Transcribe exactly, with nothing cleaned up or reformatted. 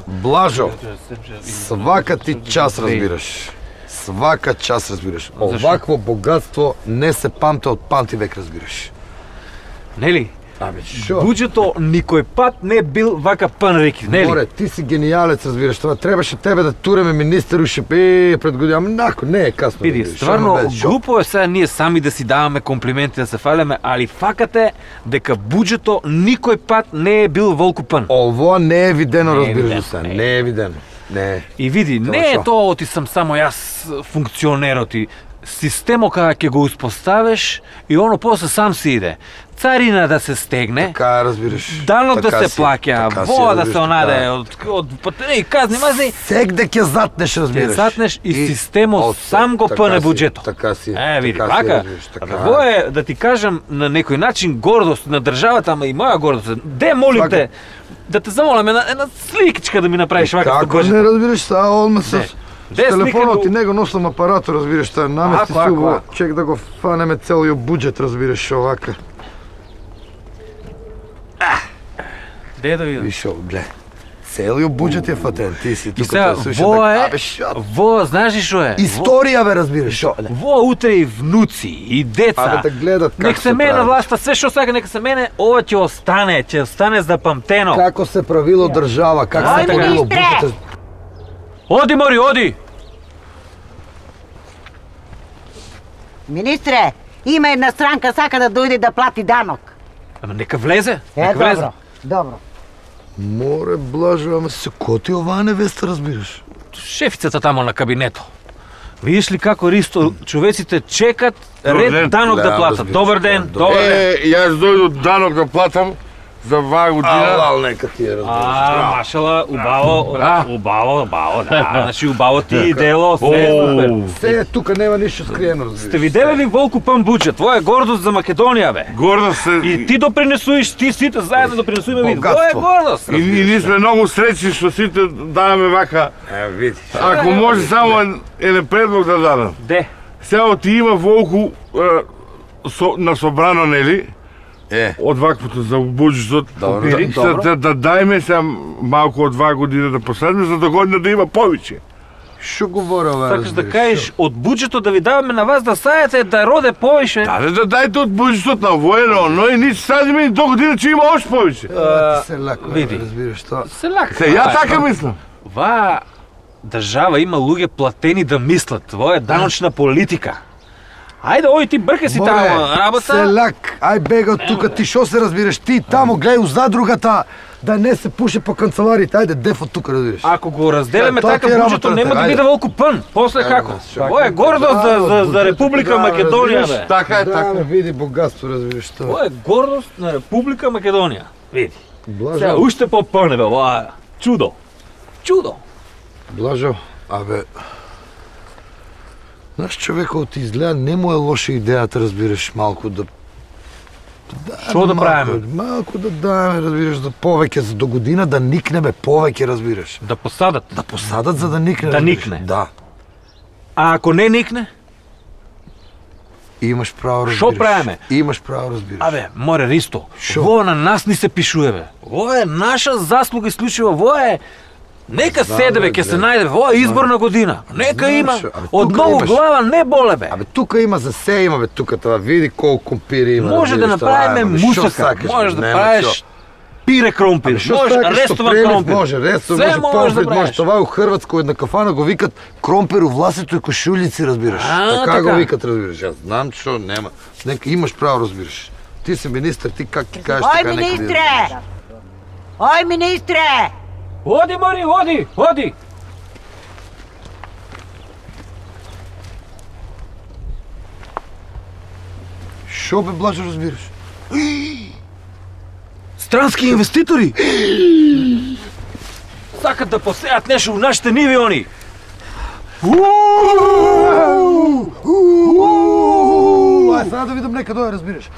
Блажо, свака ти час разбираш. Свака час разбираш. Овакво богатство не се памте од памти век разбираш. Нели? Абе, шо? Буџето никој пат не бил вака пан реки, нели? Море, ти си гениалец, разбираш, това требаше тебе да туреме министер уште е пред година, ама нако, не е касно. Види, стварно глупо е сега ние сами да си даваме комплименти да се фалеме, али факат е дека буџето никој пат не е бил волку пан. Ово не е видено, Не е разбираш видено, се, не е. не е видено. Не. И види, Тоа не е шо? тоа оти сам само јас функционерот и системо кога ќе го успоставиш и оно после сам си иде. Царина да се стегне, Така разбираш. данок да Така се си, плаќа, така си, воа да разбираш, се онаде така е. од од патери казни мази, Сегде ќе затнеш, разбираш. ќе затнеш и системот О, сам го така пъне си, буџето. Така си. Е, види, така си, вака. разбираш, така. Абе, во е, да ти кажам, на некој начин гордост на државата, ама и моја гордост. Де молим те, да те замолам една, една сликичка да ми направиш вака со Како буџето. не разбираш, са одма с Не. с Де телефонот слика и го- него носам апаратот, разбираш, таа намести Ако, ако, се во ако. чек да го фанеме целиот буџет, разбираш, овака. Де да видам. Вишо, гле. Целиот буџет е фатен, ти си И тука сега, да слушаш. во е, Абе, шо? во, знаеш ли шо е? Историја бе, разбираш, шо? Во утре и внуци, и деца. Абе, да гледат како Нек се мене прави. власта, све што сака нека се мене, ова ќе остане, ќе остане запамтено. Како се правило држава, како се Ајде, правило министре! буџет. Оди, Мори, оди! Министре, има една странка сака да дојде да плати данок. Ама нека влезе, Е, нека влезе. добро, добро. Море, блажо, ама се коти оваа невеста, разбираш. Шефицата тамо на кабинето. Видиш ли како Ристо, човеците чекат Добар ден. ред данок да Да, платат. разбираш. Добар ден, Добар добар ден. Е, јас дојдов данок да платам за оваа година. Алал, нека ти е, разбираш. А, машала, убаво, Да. убаво, убаво, да. Значи убаво ти и дело, се супер. Се е, тука нема ништо скриено, разбираш. Сте виделе ли волку пан буџет? Тоа е гордост за Македонија, бе. Гордо се. И ти допринесуваш, ти сите заедно допринесуваме вид. Тоа е Богатство. гордост. И, и ние сме многу среќни што сите даваме вака. Е, видиш. Ако може само ен- еден предлог да дадам. Де? Сега ти има волку е, со, на собрано, нели? Е, Од ваквото за буџетот. Добро, Да, да, да, добро. да, да дајме сега малку од два година да последне, за до година да има повеќе. шо говори ова, Сакаш да разбираш, кажеш шо? од буџетот да ви даваме на вас да сајате да роде повише? Да, да дајте од буџетот на воено, но и нити садиме и до година ќе има още повеќе. Ова ти се леко, види. разбираш тоа. Се лака. Се, ја така мислам. Ва држава има луѓе платени да мислат. Тоа е даночна политика. Ајде, ој ти брка си Море, таму работа. Селак, ај бега од тука, ти шо се разбираш? Ти тамо гледај у задругата, да не се пуше по канцелариите, ајде деф од тука, разбираш. Ако го разделиме Тоа така ти е буџето работата, нема да ајде. биде волку пън. После како? Ова е гордост за, за, за Република Македонија, бе. Така е, Да, така. бе, види богатство, разбираш тоа. Ова е гордост на Република Македонија. Види. Сега Блажо, уште по-пъне, бе, ова е чудо. Чудо. Блажо, абе, знаеш, човекот ти изгледа, не му е лоша идејата, разбираш, малку да... Што да малку- правиме? Малку да даеме, разбираш, за повеќе, за до година да никнеме повеќе, разбираш. Да посадат. Да посадат за да никне, Да разбираш. никне. Да. А ако не никне? Имаш право, разбираш. Шо правиме? Имаш право, разбираш. Абе, море Ристо, Шо? во на нас ни се пишуе, бе. Во е наша заслуга исклучива, во е... Нека Знам, седе, бе, бе, ќе се гледа. најде, во е изборна година. Нека Знам, има. шо, абе, Од тука многу имаш. глава не боле, бе. Абе, тука има за се има, бе, тука това, види колку компири има. Може да разбираш, направиме тоа е, бе, шо мусака, сакаш, бе, можеш да нема правиш шо. пире кромпир, Абе, шо може сакаш, што рестован премив, кромпир. Може, рестов, Се може, можеш да помфрит, може, правиш. това е у Хрватска, у една кафана го викат кромпир у власето и кошулици, разбираш. А, така, така. го викат, разбираш. Јас знам, што нема. Нека имаш право, разбираш. Ти си министр, ти как ти кажеш Ој, така нека да министре! Ој, министре! Оди, Мари, оди, оди. Шо бе, Блажо, разбираш? Странски инвеститори. Сакат да посејат нешто у нашите ниви они. Ај, сега да видам нека доја, разбираш.